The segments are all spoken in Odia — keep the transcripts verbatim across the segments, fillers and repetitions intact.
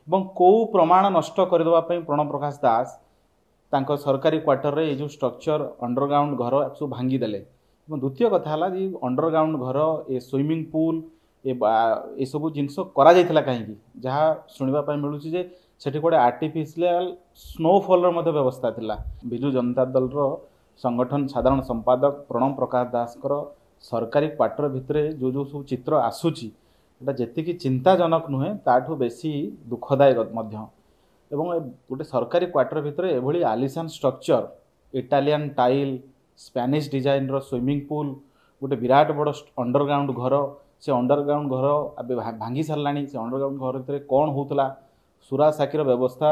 ଏବଂ କେଉଁ ପ୍ରମାଣ ନଷ୍ଟ କରିଦେବା ପାଇଁ ପ୍ରଣବ ପ୍ରକାଶ ଦାସ ତାଙ୍କ ସରକାରୀ କ୍ୱାର୍ଟରରେ ଏଇ ଯେଉଁ ଷ୍ଟ୍ରକ୍ଚର ଅଣ୍ଡରଗ୍ରାଉଣ୍ଡ ଘର ସବୁ ଭାଙ୍ଗିଦେଲେ। ଏବଂ ଦ୍ୱିତୀୟ କଥା ହେଲା ଯେ ଅଣ୍ଡରଗ୍ରାଉଣ୍ଡ ଘର, ଏ ସୁଇମିଂ ପୁଲ୍, ଏ ଏସବୁ ଜିନିଷ କରାଯାଇଥିଲା କାହିଁକି? ଯାହା ଶୁଣିବା ପାଇଁ ମିଳୁଛି ଯେ ସେଠି କୁଆଡ଼େ ଆର୍ଟିଫିସିଆଲ ସ୍ନୋଫଲ୍ର ମଧ୍ୟ ବ୍ୟବସ୍ଥା ଥିଲା। ବିଜୁ ଜନତା ଦଳର ସଂଗଠନ ସାଧାରଣ ସମ୍ପାଦକ ପ୍ରଣବ ପ୍ରକାଶ ଦାସଙ୍କର ସରକାରୀ କ୍ୱାର୍ଟର ଭିତରେ ଯେଉଁ ଯେଉଁ ସବୁ ଚିତ୍ର ଆସୁଛି, ଏଇଟା ଯେତିକି ଚିନ୍ତାଜନକ ନୁହେଁ, ତାଠୁ ବେଶୀ ଦୁଃଖଦାୟକ ମଧ୍ୟ। ଏବଂ ଗୋଟେ ସରକାରୀ କ୍ୱାର୍ଟର ଭିତରେ ଏଭଳି ଆଲିସାନ ଷ୍ଟ୍ରକ୍ଚର, ଇଟାଲିଆନ ଟାଇଲ୍, ସ୍ପ୍ୟାନିଶ ଡିଜାଇନର ସୁଇମିଂ ପୁଲ୍, ଗୋଟେ ବିରାଟ ବଡ଼ ଅଣ୍ଡରଗ୍ରାଉଣ୍ଡ ଘର, ସେ ଅଣ୍ଡରଗ୍ରାଉଣ୍ଡ ଘର ଏବେ ଭାଙ୍ଗି ସାରିଲାଣି। ସେ ଅଣ୍ଡରଗ୍ରାଉଣ୍ଡ ଘର ଭିତରେ କ'ଣ ହେଉଥିଲା, ସୁରା ସାକିର ବ୍ୟବସ୍ଥା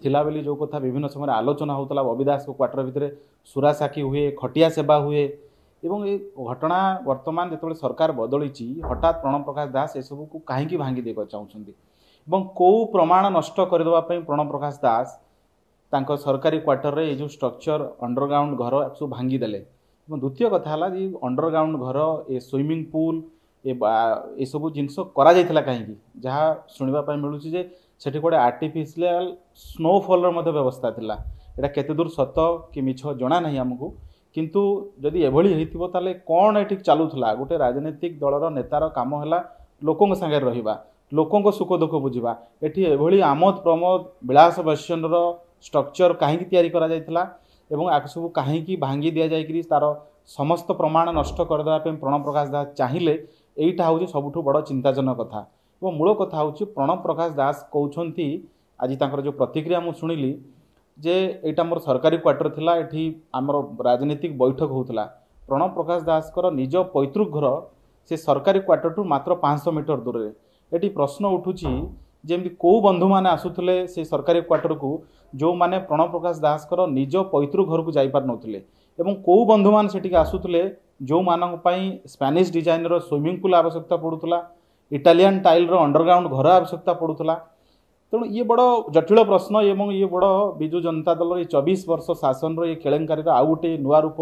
ଥିଲା ବୋଲି ଯେଉଁ କଥା ବିଭିନ୍ନ ସମୟରେ ଆଲୋଚନା ହେଉଥିଲା, ବବି ଦାସଙ୍କ କ୍ୱାର୍ଟର ଭିତରେ ସୁରା ସାକି ହୁଏ, ଖଟିଆ ସେବା ହୁଏ। ଏବଂ ଏ ଘଟଣା ବର୍ତ୍ତମାନ ଯେତେବେଳେ ସରକାର ବଦଳିଛି, ହଠାତ୍ ପ୍ରଣବ ପ୍ରକାଶ ଦାସ ଏସବୁକୁ କାହିଁକି ଭାଙ୍ଗି ଦେବାକୁ ଚାହୁଁଛନ୍ତି ଏବଂ କେଉଁ ପ୍ରମାଣ ନଷ୍ଟ କରିଦେବା ପାଇଁ ପ୍ରଣବ ପ୍ରକାଶ ଦାସ ତାଙ୍କ ସରକାରୀ କ୍ୱାର୍ଟରରେ ଏଇ ଯେଉଁ ଷ୍ଟ୍ରକ୍ଚର ଅଣ୍ଡରଗ୍ରାଉଣ୍ଡ ଘର ସବୁ ଭାଙ୍ଗିଦେଲେ। ଏବଂ ଦ୍ୱିତୀୟ କଥା ହେଲା ଯେ ଅଣ୍ଡରଗ୍ରାଉଣ୍ଡ ଘର, ଏ ସୁଇମିଂ ପୁଲ୍, ଏ ଏସବୁ ଜିନିଷ କରାଯାଇଥିଲା କାହିଁକି? ଯାହା ଶୁଣିବା ପାଇଁ ମିଳୁଛି ଯେ ସେଠି କୁଆଡ଼େ ଆର୍ଟିଫିସିଆଲ ସ୍ନୋଫଲ୍ର ମଧ୍ୟ ବ୍ୟବସ୍ଥା ଥିଲା। ଏଇଟା କେତେ ଦୂର ସତ କି ମିଛ ଜଣା ନାହିଁ ଆମକୁ, କିନ୍ତୁ ଯଦି ଏଭଳି ହେଇଥିବ ତାହେଲେ କ'ଣ ଏଠି ଚାଲୁଥିଲା? ଗୋଟେ ରାଜନୈତିକ ଦଳର ନେତାର କାମ ହେଲା ଲୋକଙ୍କ ସାଙ୍ଗରେ ରହିବା, ଲୋକଙ୍କ ସୁଖ ଦୁଃଖ ବୁଝିବା। ଏଠି ଏଭଳି ଆମୋଦ ପ୍ରମୋଦ ବିଳାସ ବୈଷୟର ଷ୍ଟ୍ରକ୍ଚର କାହିଁକି ତିଆରି କରାଯାଇଥିଲା ଏବଂ ଆକୁ ସବୁ କାହିଁକି ଭାଙ୍ଗି ଦିଆଯାଇକରି ତା'ର ସମସ୍ତ ପ୍ରମାଣ ନଷ୍ଟ କରିଦେବା ପାଇଁ ପ୍ରଣବ ପ୍ରକାଶ ଦାସ ଚାହିଁଲେ, ଏଇଟା ହେଉଛି ସବୁଠୁ ବଡ଼ ଚିନ୍ତାଜନକ କଥା। ଏବଂ ମୂଳ କଥା ହେଉଛି ପ୍ରଣବ ପ୍ରକାଶ ଦାସ କହୁଛନ୍ତି, ଆଜି ତାଙ୍କର ଯେଉଁ ପ୍ରତିକ୍ରିୟା ମୁଁ ଶୁଣିଲି ଯେ ଏଇଟା ମୋର ସରକାରୀ କ୍ୱାର୍ଟର ଥିଲା, ଏଠି ଆମର ରାଜନୈତିକ ବୈଠକ ହେଉଥିଲା। ପ୍ରଣବ ପ୍ରକାଶ ଦାସଙ୍କର ନିଜ ପୈତୃକ ଘର ସେ ସରକାରୀ କ୍ୱାର୍ଟରଠୁ ମାତ୍ର ପାଞ୍ଚଶହ ମିଟର ଦୂରରେ। ଏଠି ପ୍ରଶ୍ନ ଉଠୁଛି ଯେମିତି କେଉଁ ବନ୍ଧୁମାନେ ଆସୁଥିଲେ ସେ ସରକାରୀ କ୍ୱାର୍ଟରକୁ, ଯେଉଁମାନେ ପ୍ରଣବ ପ୍ରକାଶ ଦାସଙ୍କର ନିଜ ପୈତୃକ ଘରକୁ ଯାଇପାରୁନଥିଲେ, ଏବଂ କେଉଁ ବନ୍ଧୁମାନେ ସେଠିକି ଆସୁଥିଲେ ଯେଉଁମାନଙ୍କ ପାଇଁ ସ୍ପ୍ୟାନିଶ ଡିଜାଇନର ସୁଇମିଂ ପୁଲ୍ ଆବଶ୍ୟକତା ପଡ଼ୁଥିଲା, ଇଟାଲିଆନ ଟାଇଲ୍ର ଅଣ୍ଡରଗ୍ରାଉଣ୍ଡ ଘର ଆବଶ୍ୟକତା ପଡ଼ୁଥିଲା। ତେଣୁ ଇଏ ବଡ଼ ଜଟିଳ ପ୍ରଶ୍ନ ଏବଂ ଇଏ ବଡ଼ ବିଜୁ ଜନତା ଦଳର ଏ ଚବିଶ ବର୍ଷ ଶାସନର ଏ କେଳେଙ୍କାରୀର ଆଉ ଗୋଟେ ନୂଆ ରୂପ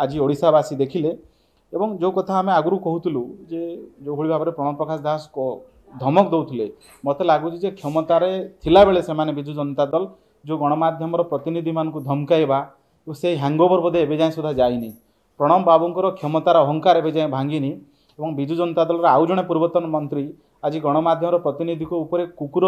ଆଜି ଓଡ଼ିଶାବାସୀ ଦେଖିଲେ। ଏବଂ ଯେଉଁ କଥା ଆମେ ଆଗରୁ କହୁଥିଲୁ ଯେ ଯେଉଁଭଳି ଭାବରେ ପ୍ରଣବ ପ୍ରକାଶ ଦାସ ଧମକ ଦେଉଥିଲେ, ମୋତେ ଲାଗୁଛି ଯେ କ୍ଷମତାରେ ଥିଲାବେଳେ ସେମାନେ ବିଜୁ ଜନତା ଦଳ ଯେଉଁ ଗଣମାଧ୍ୟମର ପ୍ରତିନିଧିମାନଙ୍କୁ ଧମକାଇବା, ସେଇ ହ୍ୟାଙ୍ଗଓଭର ବୋଧେ ଏବେ ଯାଏଁ ସୁଦ୍ଧା ଯାଇନି। ପ୍ରଣବ ବାବୁଙ୍କର କ୍ଷମତାର ଅହଙ୍କାର ଏବେ ଯାଏଁ ଭାଙ୍ଗିନି। ଏବଂ ବିଜୁ ଜନତା ଦଳର ଆଉ ଜଣେ ପୂର୍ବତନ ମନ୍ତ୍ରୀ ଆଜି ଗଣମାଧ୍ୟମର ପ୍ରତିନିଧିଙ୍କ ଉପରେ କୁକୁର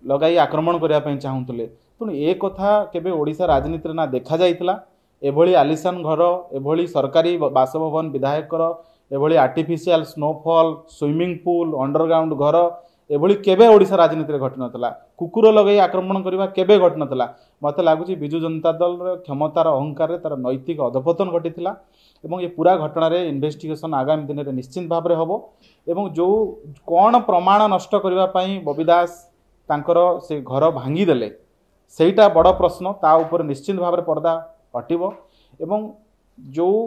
ଲଗାଇ ଆକ୍ରମଣ କରିବା ପାଇଁ ଚାହୁଁଥିଲେ। ତେଣୁ ଏ କଥା କେବେ ଓଡ଼ିଶା ରାଜନୀତିରେ ନା ଦେଖାଯାଇଥିଲା। ଏଭଳି ଆଲିସାନ ଘର, ଏଭଳି ସରକାରୀ ବାସଭବନ ବିଧାୟକର, ଏଭଳି artificial snowfall, swimming pool, underground ଘର, ଏଭଳି କେବେ ଓଡ଼ିଶା ରାଜନୀତିରେ ଘଟିନଥିଲା। କୁକୁର ଲଗାଇ ଆକ୍ରମଣ କରିବା କେବେ ଘଟିନଥିଲା। ମୋତେ ଲାଗୁଛି ବିଜୁ ଜନତା ଦଳର କ୍ଷମତାର ଅହଙ୍କାରରେ ତା'ର ନୈତିକ ଅଧପତନ ଘଟିଥିଲା ଏବଂ ଏ ପୁରା ଘଟଣାରେ ଇନଭେଷ୍ଟିଗେସନ୍ ଆଗାମୀ ଦିନରେ ନିଶ୍ଚିତ ଭାବରେ ହେବ। ଏବଂ ଯେଉଁ କ'ଣ ପ୍ରମାଣ ନଷ୍ଟ କରିବା ପାଇଁ ବବି ଦାସ ତାଙ୍କର ସେ ଘର ଭାଙ୍ଗିଦେଲେ, ସେଇଟା ବଡ଼ ପ୍ରଶ୍ନ, ତା ଉପରେ ନିଶ୍ଚିତ ଭାବରେ ପର୍ଦ୍ଦା ହଟିବ। ଏବଂ ଯେଉଁ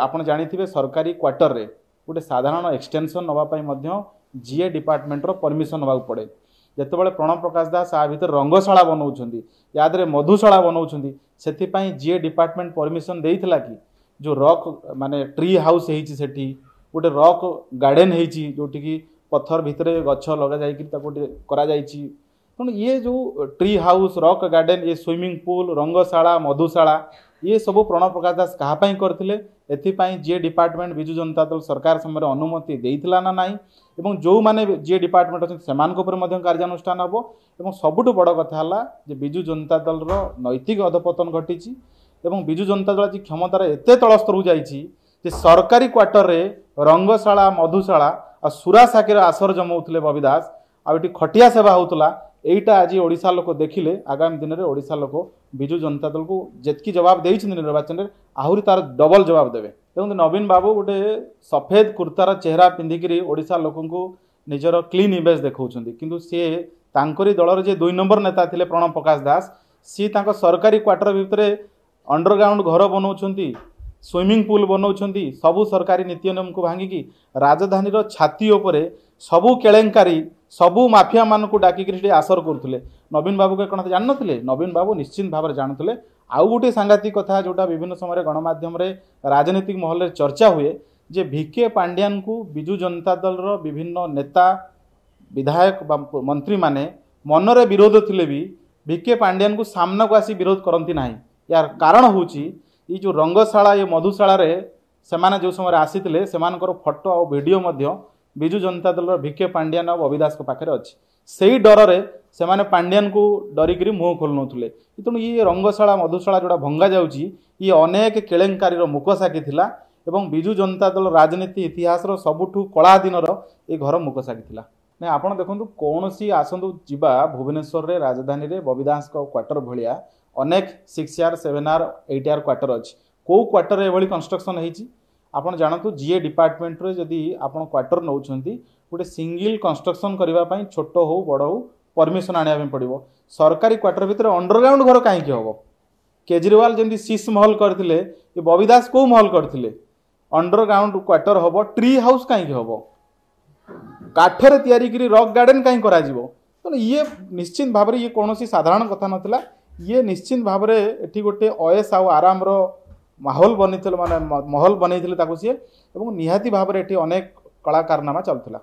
ଆପଣ ଜାଣିଥିବେ ସରକାରୀ କ୍ୱାର୍ଟରରେ ଗୋଟେ ସାଧାରଣ ଏକ୍ସଟେନସନ୍ ନେବା ପାଇଁ ମଧ୍ୟ ଜିଏ ଡିପାର୍ଟମେଣ୍ଟର ପରମିସନ୍ ନେବାକୁ ପଡ଼େ। ଯେତେବେଳେ ପ୍ରଣବ ପ୍ରକାଶ ଦାସ ଆ ଭିତରେ ରଙ୍ଗଶାଳା ବନାଉଛନ୍ତି, ୟା ଦେହରେ ମଧୁଶାଳା ବନାଉଛନ୍ତି, ସେଥିପାଇଁ ଜିଏ ଡିପାର୍ଟମେଣ୍ଟ ପରମିସନ୍ ଦେଇଥିଲା କି? ଯେଉଁ ରକ୍ ମାନେ ଟ୍ରି ହାଉସ୍ ହେଇଛି ସେଠି, ଗୋଟେ ରକ୍ ଗାର୍ଡ଼େନ୍ ହେଇଛି ଯେଉଁଠିକି ପଥର ଭିତରେ ଗଛ ଲଗାଯାଇକିରି ତାକୁ ଗୋଟେ କରାଯାଇଛି। ତେଣୁ ଇଏ ଯେଉଁ ଟ୍ରି ହାଉସ୍, ରକ୍ ଗାର୍ଡ଼େନ୍, ଏ ସୁଇମିଂ ପୁଲ୍, ରଙ୍ଗଶାଳା, ମଧୁଶାଳା, ଇଏ ସବୁ ପ୍ରଣବ ପ୍ରକାଶ ଦାସ କାହା ପାଇଁ କରିଥିଲେ? ଏଥିପାଇଁ ଯିଏ ଡିପାର୍ଟମେଣ୍ଟ ବିଜୁ ଜନତା ଦଳ ସରକାର ସମୟରେ ଅନୁମତି ଦେଇଥିଲା ନା ନାହିଁ, ଏବଂ ଯେଉଁମାନେ ଯିଏ ଡିପାର୍ଟମେଣ୍ଟ ଅଛନ୍ତି ସେମାନଙ୍କ ଉପରେ ମଧ୍ୟ କାର୍ଯ୍ୟାନୁଷ୍ଠାନ ହେବ। ଏବଂ ସବୁଠୁ ବଡ଼ କଥା ହେଲା ଯେ ବିଜୁ ଜନତା ଦଳର ନୈତିକ ଅଧପତନ ଘଟିଛି ଏବଂ ବିଜୁ ଜନତା ଦଳ ଆଜି କ୍ଷମତାର ଏତେ ତଳ ସ୍ତରକୁ ଯାଇଛି ଯେ ସରକାରୀ କ୍ୱାର୍ଟରରେ ରଙ୍ଗଶାଳା, ମଧୁଶାଳା ଆଉ ସୁରା ସାକିର ଆସର ଜମାଉଥିଲେ ବବି ଦାସ, ଆଉ ଏଠି ଖଟିଆ ସେବା ହେଉଥିଲା। ଏଇଟା ଆଜି ଓଡ଼ିଶା ଲୋକ ଦେଖିଲେ। ଆଗାମୀ ଦିନରେ ଓଡ଼ିଶା ଲୋକ ବିଜୁ ଜନତା ଦଳକୁ ଯେତିକି ଜବାବ ଦେଇଛନ୍ତି ନିର୍ବାଚନରେ, ଆହୁରି ତାର ଡବଲ ଜବାବ ଦେବେ। ଦେଖନ୍ତୁ, ନବୀନ ବାବୁ ଗୋଟେ ସଫେଦ କୁର୍ତ୍ତାର ଚେହେରା ପିନ୍ଧିକିରି ଓଡ଼ିଶା ଲୋକଙ୍କୁ ନିଜର କ୍ଲିନ୍ ଇମେଜ୍ ଦେଖାଉଛନ୍ତି, କିନ୍ତୁ ସିଏ ତାଙ୍କରି ଦଳର ଯିଏ ଦୁଇ ନମ୍ବର ନେତା ଥିଲେ ପ୍ରଣବ ପ୍ରକାଶ ଦାସ, ସିଏ ତାଙ୍କ ସରକାରୀ କ୍ୱାର୍ଟର ଭିତରେ ଅଣ୍ଡରଗ୍ରାଉଣ୍ଡ ଘର ବନାଉଛନ୍ତି, ସୁଇମିଂ ପୁଲ୍ ବନାଉଛନ୍ତି, ସବୁ ସରକାରୀ ନୀତି ନିୟମକୁ ଭାଙ୍ଗିକି ରାଜଧାନୀର ଛାତି ଉପରେ ସବୁ କେଳେଙ୍କାରୀ, ସବୁ ମାଫିଆମାନଙ୍କୁ ଡାକିକିରି ସେଠି ଆସର କରୁଥିଲେ। ନବୀନ ବାବୁ କ'ଣ ଜାଣିନଥିଲେ? ନବୀନ ବାବୁ ନିଶ୍ଚିତ ଭାବରେ ଜାଣୁଥିଲେ। ଆଉ ଗୋଟିଏ ସାଂଘାତିକ କଥା ଯେଉଁଟା ବିଭିନ୍ନ ସମୟରେ ଗଣମାଧ୍ୟମରେ ରାଜନୈତିକ ମହଲରେ ଚର୍ଚ୍ଚା ହୁଏ ଯେ ଭିକେ ପାଣ୍ଡିଆନକୁ ବିଜୁ ଜନତା ଦଳର ବିଭିନ୍ନ ନେତା, ବିଧାୟକ ବା ମନ୍ତ୍ରୀମାନେ ମନରେ ବିରୋଧ ଥିଲେ ବି ଭିକେ ପାଣ୍ଡିଆନକୁ ସାମ୍ନାକୁ ଆସି ବିରୋଧ କରନ୍ତି ନାହିଁ। ୟାର କାରଣ ହେଉଛି ଏଇ ଯେଉଁ ରଙ୍ଗଶାଳା, ଏ ମଧୁଶାଳାରେ ସେମାନେ ଯେଉଁ ସମୟରେ ଆସିଥିଲେ, ସେମାନଙ୍କର ଫଟୋ ଆଉ ଭିଡ଼ିଓ ମଧ୍ୟ ବିଜୁ ଜନତା ଦଳର ଭିକେ ପାଣ୍ଡିଆନ ଆଉ ବବି ଦାସଙ୍କ ପାଖରେ ଅଛି। ସେଇ ଡରରେ ସେମାନେ ପାଣ୍ଡିଆନକୁ ଡରିକିରି ମୁହଁ ଖୋଲୁନଥିଲେ। ତେଣୁ ଇଏ ରଙ୍ଗଶାଳା ମଧୁଶାଳା ଯେଉଁଟା ଭଙ୍ଗା ଯାଉଛି, ଇଏ ଅନେକ କେଳେଙ୍କାରୀର ମୁଖସାକ୍ଷୀ ଥିଲା ଏବଂ ବିଜୁ ଜନତା ଦଳ ରାଜନୀତି ଇତିହାସର ସବୁଠୁ କଳା ଦିନର ଏ ଘର ମୁଖସାକ୍ଷୀ ଥିଲା। ନାଇଁ, ଆପଣ ଦେଖନ୍ତୁ, କୌଣସି ଆସନ୍ତୁ ଯିବା, ଭୁବନେଶ୍ୱରରେ ରାଜଧାନୀରେ ବବି ଦାସଙ୍କ କ୍ୱାର୍ଟର ଭଳିଆ ଅନେକ six R, seven R, eight R quarter ଅଛି। କେଉଁ କ୍ୱାର୍ଟର ଏଭଳି କନଷ୍ଟ୍ରକ୍ସନ୍ ହେଇଛି ଆପଣ ଜାଣନ୍ତୁ। ଯିଏ ଡିପାର୍ଟମେଣ୍ଟରେ ଯଦି ଆପଣ କ୍ୱାର୍ଟର ନେଉଛନ୍ତି, ଗୋଟେ ସିଙ୍ଗିଲ୍ କନଷ୍ଟ୍ରକ୍ସନ୍ କରିବା ପାଇଁ ଛୋଟ ହଉ ବଡ଼ ହଉ ପରମିସନ୍ ଆଣିବା ପାଇଁ ପଡ଼ିବ। ସରକାରୀ କ୍ୱାର୍ଟର ଭିତରେ ଅଣ୍ଡରଗ୍ରାଉଣ୍ଡ ଘର କାହିଁକି ହେବ? କେଜରିୱାଲ ଯେମିତି ଶୀଶ ମହଲ କରିଥିଲେ, ଏ ବବି ଦାସ କେଉଁ ମହଲ କରିଥିଲେ? ଅଣ୍ଡରଗ୍ରାଉଣ୍ଡ କ୍ୱାର୍ଟର ହେବ, ଟ୍ରି ହାଉସ୍ କାହିଁକି ହେବ? କାଠରେ ତିଆରି କରି ରକ୍ ଗାର୍ଡେନ୍ କାହିଁ କରାଯିବ? ତେଣୁ ଇଏ ନିଶ୍ଚିତ ଭାବରେ ଇଏ କୌଣସି ସାଧାରଣ କଥା ନଥିଲା। ଇଏ ନିଶ୍ଚିତ ଭାବରେ ଏଠି ଗୋଟେ ଅଏସ୍ ଆଉ ଆରାମର ମାହୋଲ ବନେଇଥିଲେ, ମାନେ ମହଲ ବନେଇଥିଲେ ତାକୁ ସିଏ, ଏବଂ ନିହାତି ଭାବରେ ଏଠି ଅନେକ କଳାକାରନାମା ଚାଲୁଥିଲା।